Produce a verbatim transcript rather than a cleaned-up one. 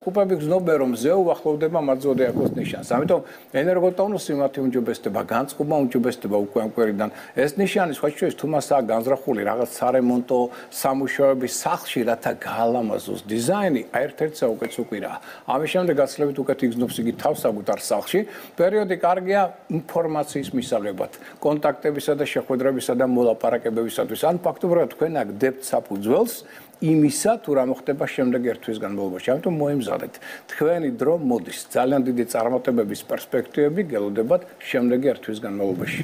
Კუპები გრძნობენ რომ მზე უახლოვდება მათ ზოდიაქოს ნიშანს. ამიტომ ენერგოტონუსი მათი უმჯობესდება, განწყობა უმჯობესდება უკვე ამ კვირიდან. ეს ნიშანი სხვა შორის თუ მასაა განზრახული რაღაც სარემონტო სამუშაოების სახლში, რათა გაალამაზოს დიზაინი, ერთ-ერთი საუკეთესო უკვირაა. ამის შემდეგ გაცილებით უკეთ იგრძნობს იგი თავს საკუთარ სახლში. პერიოდი კარგია ინფორმაციის მისაღებად, კონტაქტებისა და შეხვედრებისა და მოლაპარაკებებისათვის. ან ფაქტობრივად თქვენ აგდებთ საფუძველს იმისა, თუ რა მოხდება შემდეგ ერთ თვის განმავლობაში. ამიტომ მოემზადეთ. თქვენი დრო მოდის. ძალიან დიდი წარმატებების პერსპექტივები გელოდებათ შემდეგი ერთ თვის განმავლობაში.